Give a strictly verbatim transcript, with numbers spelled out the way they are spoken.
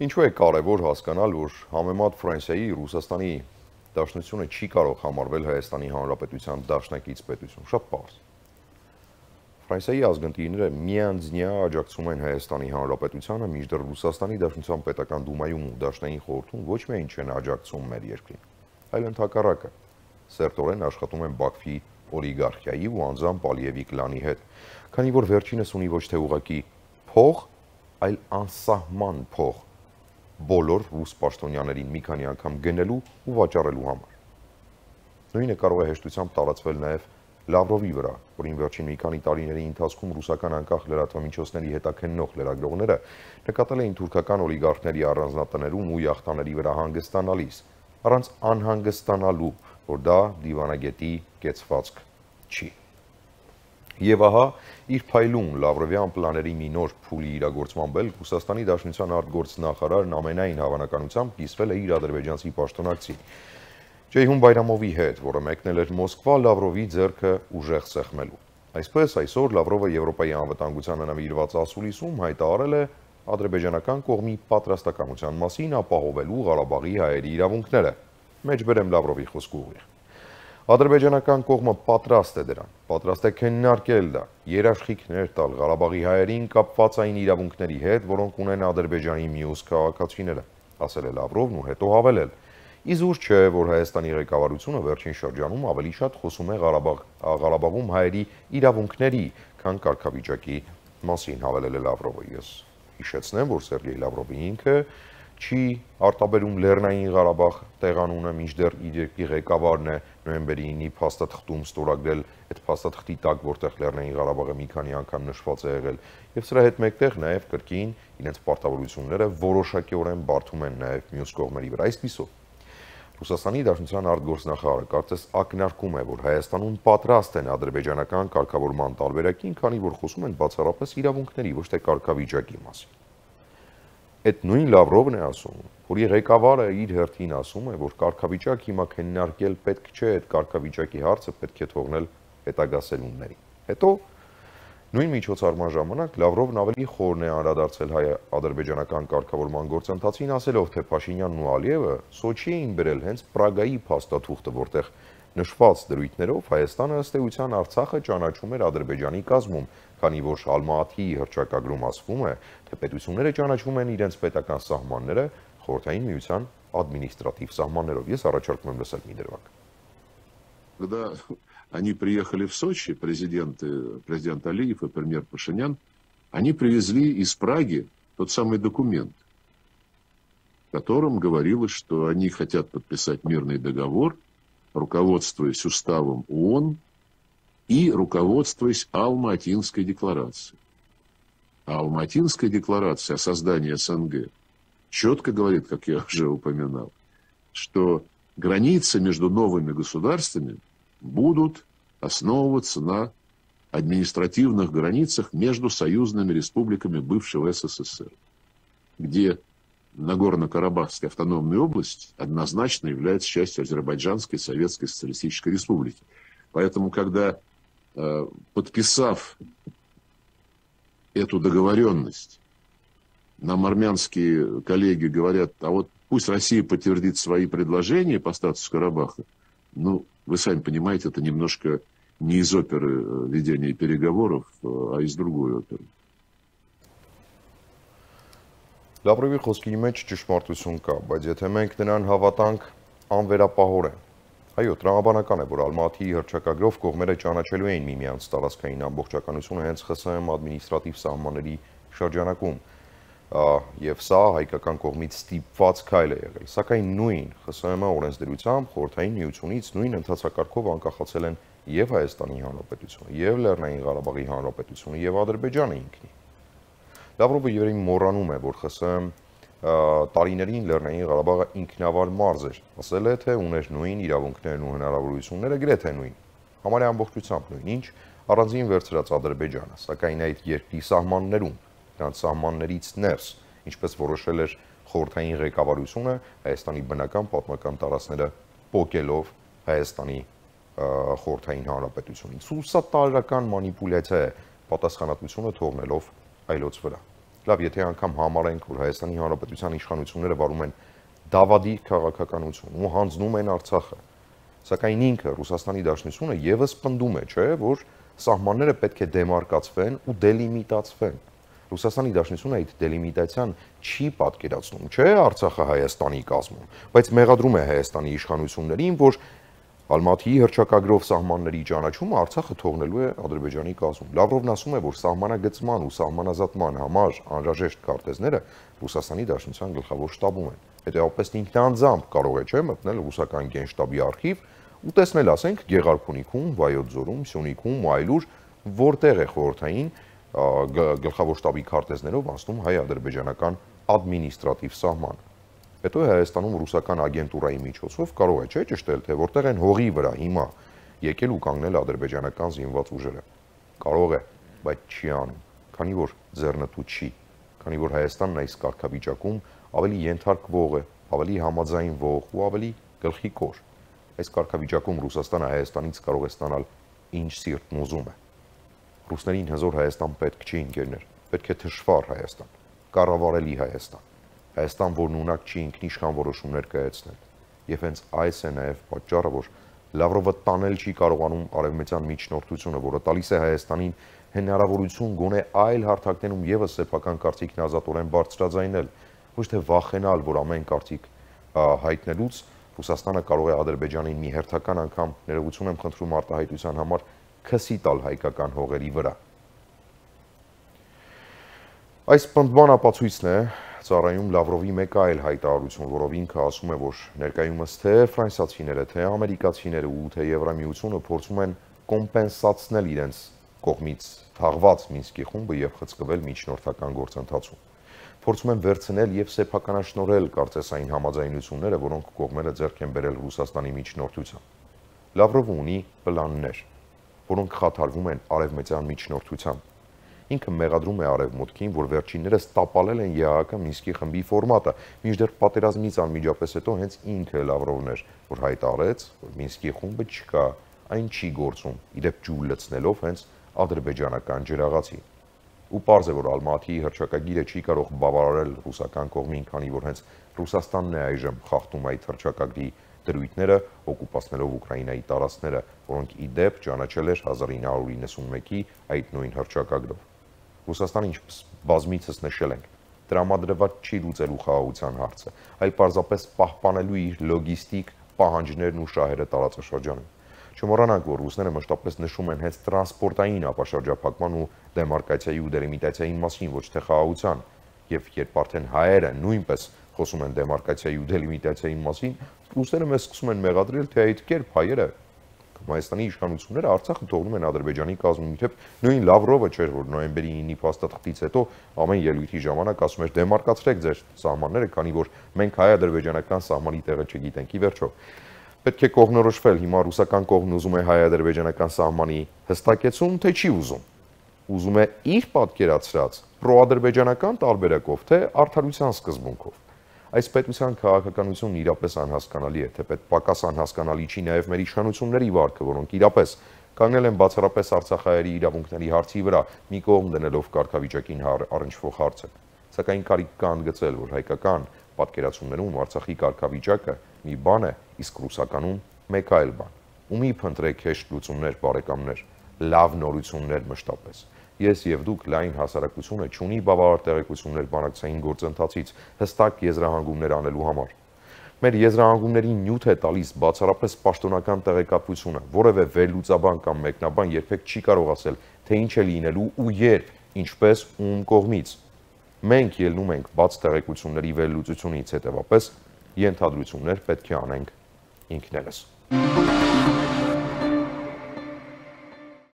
Ինչու է կարևոր հասկանալ, որ համեմատ Ֆրանսիայի, Ռուսաստանի Դաշնությունը չի կարող համարվել Հայաստանի Հանրապետության դաշնակից պետություն, շատ պարզ։ Ֆրանսիայի ազգընտիրները միանձնյա աջակցում են Հայաստանի Հանրապետությանը, մինչդեռ Ռուսաստանի Դաշնության պետական դումայում ու դաշնային խորհրդում ոչ միայն չեն աջակցում մեր երկրին, այլ ընդհակառակը սերտորեն աշխատում են Բաքվի օլիգարխիայի ու անձամբ Ալիևի կլանի հետ, քանի որ վերջինս ունի ոչ թե ուղղակի փող, այլ անսահման փող բոլոր ռուս պաշտոնյաներին մի քանի անգամ գնելու ու վաճառելու համար։ Նույնը կարող է հեշտությամբ տարածվել նաև Լավրովի վրա, որին վերջին մի քանի տարիների ընթացքում ռուսական անկախ լրատվամիջոցների հետաքննող լրագրողները նկատել էին թուրքական օլիգարխների առանձնատներում ու յախտաների վրա հանգստանալիս, առանց անհանգստանալու, որ դա դիվանագետի կեցվածք չի։ Եվ ահա, իր փայլուն Լավրովյան պլաների մի նոր փուլի իրագործման բել Ռուսաստանի Դաշնության արտգործնախարարն ամենայն հավանականությամբ կիսվել է իր ադրբեջանցի պաշտոնակցի Ջեյհուն Բայրամովի հետ, որը մեկնել էր Մոսկվա Լավրովի ձեռքը ուժեղ սեղմելու։ Այսպես, այսօր Լավրովը Եվրոպայի անվտանգությանը նվիրված ասուլիսում հայտարարել է ադրբեջանական կողմի պատրաստակամության մասին ապահովելու Ղարաբաղի հայերի իրավունքները։ Մեջբերեմ Լավրովի խոսքը ուղիղ։ Ադրբեջանական կողմը պատրաստ է դրան, պատրաստ է քննարկել դա, երաշխիքներ տալ Ղարաբաղի հայերին կապված այն իրավունքների հետ, որոնք ունեն Ադրբեջանի մյուս քաղաքացիները, ասել է Լավրովն ու հետո հավելել. Իզուր չէ, որ Հայաստանի ղեկավարությունը վերջին շրջանում ավելի շատ խոսում է Ղարաբաղ, Ղարաբաղում հայերի իրավունքների, քան կարգավիճակի մասին, հավելել է Լավրովը։ Ես հիշեցնեմ, որ Սերգեյ Լավրովը ինքը չի արտաբերում Լեռնային Ղարաբաղ տեղանունը, մինչդեռ իր երկրի ղեկավարն է նոյեմբերի ինի փաստաթղթում ստորագրել այդ փաստաթղթի տակ, որտեղ Լեռնային Ղարաբաղը մի քանի անգամ նշված է եղել, եւ սրա հետ մեկտեղ նաեւ կրկին իրենց պարտավորությունները որոշակիորեն բարդում են նաեւ մյուս կողմերի վրա։ Այսպիսով Ռուսաստանի Դաշնության արտգործնախարարը կարծես ակնարկում է, որ Հայաստանում պատրաստ են ադրբեջանական կարգավորման տարբերակին, քանի որ խոսում են բացառապես իրավունքների, ոչ թե կարգավիճակի մասին։ Այդ նույն Լավրովն է ասում, որի ղեկավարը իր հերթին ասում է, որ կարգավիճակ հիմա քննարկել պետք չէ, այդ կարգավիճակի հարցը պետք է թողնել հետագա սերունդներին։ Հետո նույն միջոցառման ժամանակ Լավրովն ավելի խորն է անդրադարձել հայ-ադրբեջանական կարգավորման գործընթացին, ասելով, թե Փաշինյանն ու Ալիևը Սոչի էին բերել հենց Պրագայի փաստաթուղթը, որտեղ նշված դրույթներով Հայաստանը ըստ էության Արցախը ճանաչում էր Ադրբեջանի կազմում, քանի որ Ալմատիի հռչակագրում ասվում է, թե պետությունները ճանաչում են իրենց պետական սահմանները Խորհրդային Միության ադմինիստրատիվ սահմաններով։ Ես առաջարկում եմ լսել մի դրվագ։ Они приехали в Сочи, президент, президент Алиев и премьер Пашинян, они привезли из Праги тот самый документ, в котором говорилось, что они хотят подписать мирный договор, руководствуясь уставом ООН и руководствуясь Алма-Атинской декларацией. А Алма-Атинская декларация о создании СНГ четко говорит, как я уже упоминал, что границы между новыми государствами будут основываться на административных границах между союзными республиками бывшего СССР, где Нагорно-Карабахская автономная область однозначно является частью Азербайджанской Советской Социалистической Республики. Поэтому, когда, подписав эту договоренность, нам армянские коллеги говорят, а вот пусть Россия подтвердит свои предложения по статусу Карабаха, ну, вы сами понимаете, это немножко не из оперы ведения переговоров, а из другой оперы. Լավրովի խոսքի մեջ ճշմարտություն կա, բայց եթե մենք նրան հավատանք անվերապահորեն։ Այո, տրամաբանական է, որ Ալմատիի հռչակագրով կողմերը ճանաչելու էին միմյանց տարածքային ամբողջականությունը հենց ԽՍՀՄ ադմինիստրատիվ սահմանների շրջանակում, եւ սա հայկական կողմից ստիպված քայլ է եղել։ Սակայն նույն ԽՍՀՄ օրենսդրությամբ Խորհրդային Միությունից նույն ընթացակարգով անկախացել են եւ Հայաստանի Հանրապետությունը, եւ Լեռնային Ղարաբաղի Հանրապետությունը, եւ Ադրբեջանը ինքնին։ Լավրովը երևի մոռանում է, որ ԽՍՀՄ տարիներին Լեռնային Ղարաբաղը ինքնավար մարզ էր, ասել է, թե ուներ նույն իրավունքներն ու հնարավորությունները, գրեթե նույն, համարյա ամբողջությամբ նույն, ինչ առանձին վերցրած Ադրբեջանը, սակայն այդ երկրի սահմաններում, նրանց սահմաններից ներս, ինչպես որոշել էր խորհրդային ղեկավարությունը, Հայաստանի բնական պատմական տարածքները պոկելով Հայաստանի խորհրդային հանրապետությունից։ Ու սա տարրական մանիպուլյացիա է, պատասխանատվությունը թողնելով այլոց վրա։ Լավ, եթե անգամ համարենք, որ Հայաստանի Հանրապետության իշխանությունները վարում են դավադի քաղաքականություն ու հանձնում են Արցախը, սակայն ինքը Ռուսաստանի Դաշնությունը եւս պնդում է, չէ, որ սահմանները պետք է դեմարկացվեն ու դելիմիտացվեն։ Ռուսաստանի Դաշնությունը այդ դելիմիտացիան չի պատկերացնում, չէ, Արցախը Հայաստանի կազմում, բայց մեղադրում է Հայաստանի իշխանություններին, որ Ալմատիի հռչակագրով սահմանների ճանաչումը Արցախը թողնելու է Ադրբեջանի կազմում։ Լավրովն ասում է, որ սահմանագծման ու սահմանազատման համար անհրաժեշտ քարտեզները Ռուսաստանի Դաշնության գլխավոր շտաբում են։ Հետևաբար ինքնանձամբ կարող է, չէ, մտնել ռուսական գենշտաբի արխիվ ու տեսնել, ասենք, Գեղարքունիքում, Վայոց ձորում, Սյունիքում ու այլուր, որտեղ է խորհրդային գլխավոր շտաբի քարտեզներով անցնում հայ-ադրբեջանական ադմինիստրատիվ սահմանը։ Հետո Հայաստանում ռուսական ագենտուրայի միջոցով կարող է, չէ, ճշտել, թե որտեղ են հողի վրա հիմա եկել ու կանգնել ադրբեջանական զինված ուժերը։ Կարող է, բայց չի անում, քանի որ ձեռնտու չի, քանի որ Հայաստանն այս կարգավիճակում ավելի ենթարկվող է, ավելի համաձայնվող ու ավելի գլխիկոր։ Այս կարգավիճակում Ռուսաստանը Հայաստանից կարող է ստանալ ինչ սիրտն ուզում է։ Ռուսներին հզոր Հայաստան պետք չի, ընկերներ, պետք է թշվառ Հայաստան, կառավարելի Հայաստան, Հայաստան, որն ունակ չի ինքնիշխան որոշումներ կայացնել։ Եվ հենց այս է նաև պատճառը, որ Լավրովը տանել չի կարողանում արևմտյան միջնորդությունը, որը տալիս է Հայաստանին հնարավորություն գոնե այլ հարթակներում եւս սեփական կարծիքն ազատորեն բարձրաձայնել, ոչ թե վախենալ, որ ամեն կարծիք հայտնելուց Ռուսաստանը կարող է Ադրբեջանին մի հերթական անգամ, ներողություն եմ խնդրում արտահայտության համար, քսի տալ հայկական հողերի վրա։ Այս պնդման ապացույցն է ծառայում Լավրովի մեկ այլ հայտարարություն, որով ինքը ասում է, որ ներկայումս թե ֆրանսիացիները, թե ամերիկացիները ու թե Եվրամիությունը փորձում են կոմպենսացնել իրենց կողմից թաղված Մինսկի խումբը եւ խցկվել միջնորդական գործընթացում։ Փորձում են վերցնել եւ սեփականաշնորհել կարծես այն համաձայնությունները, որոնք կողմերը ձեռք են բերել Ռուսաստանի միջնորդությամբ։ Լավրովը ունի պլաններ, որոնք խաթարվում են արևմտյան միջնորդությամբ։ Ինքը մեղադրում է Արևմուտքին, որ վերջիններս տապալել են ԵԱՀԿ Մինսկի խմբի ֆորմատը, մինչդեռ պատերազմից անմիջապես հետո հենց ինքը Լավրովն էր, որ հայտարարեց, որ Մինսկի խումբը չկա, այն չի գործում, իդեպ ջուր լցնելով հենց ադրբեջանական ջրաղացի։ Ու պարզ է, որ Ալմատիի հռչակագիրը չի կարող բավարարել ռուսական կողմին, քանի որ հենց Ռուսաստանն է այժմ խախտում այդ հռչակագրի դրույթները, օկուպացնելով Ուկրաինայի տարածքները, որոնք իդեպ ճանաչել էր հազար ինը հարյուր իննսունմեկի այդ նույն հռչակագրով։ Ռուսաստանը, ինչպես բազմիցս նշել ենք, տրամադրված չի լուծելու խաղաղության հարցը, այլ պարզապես պահպանելու իր լոգիստիկ պահանջներն ու շահերը տարածաշրջանում։ Չմոռանանք, որ ռուսները մշտապես նշում են հենց տրանսպորտային ապաշրջափակման ու դեմարկացիայի ու դելիմիտացիայի մասին, ոչ թե խաղաղության, եւ երբ արդեն հայերը նույնպես խոսում են դեմարկացիայի ու դելիմիտացիայի մասին, ռուսները մեզ սկսում են մեղադրել, թե այդ կերպ հայերը Հայաստանի իշխանությունները Արցախը թողնում են Ադրբեջանի կազմում, իդեպ նույն Լավրովը չէր, որ նոյեմբերի ինը փաստաթղթից հետո ամեն ելույթի ժամանակ ասում էր դեմարկացրեք ձեր սահմանները, քանի որ մենք հայ-ադրբեջանական սահմանի տեղը չգիտենք։ Ի վերջո, պետք է կողմնորոշվել, հիմա ռուսական կողմն ուզում է հայ-ադրբեջանական սահմանի հստակեցում, թե չի ուզում։ Ուզում է իր պատկերացրած պրոադրբեջանական տարբերակով, թե արդարության սկզբունքով։ Այս պետության քաղաքականությունն իրապես անհասկանալի է, թեպետ պակաս անհասկանալի չի նաև մեր իշխանությունների վարքը, որոնք իրապես կանգնել են բացառապես արցախահայերի իրավունքների հարցի վրա, մի կողմ դնելով կարգավիճակին առնչվող հարցը։ Սակայն կարիք կա ընդգծել, որ հայկական պատկերացումներում Արցախի կարգավիճակը մի բան է, իսկ ռուսականում մեկ այլ բան։ Ու մի փնտրեք հեշտ լուծումներ, բարեկամներ, լավ նորություններ մշտապես։ Ես եւ դուք լայն հասարակությունը չունի բավարար տեղեկություններ բանակցային գործընթացից հստակ եզրահանգումներ անելու համար։ Մեր եզրահանգումներին նյութ է տալիս բացառապես պաշտոնական տեղեկատվությունը, որևէ վերլուծաբան կամ մեկնաբան երբեք չի կարող ասել, թե ինչ է լինելու ու երբ, ինչպես ում կողմից։ Մենք ելնում ենք բաց տեղեկությունների վերլուծությունից, հետևապես ենթադրություններ պետք է անենք ինքներս։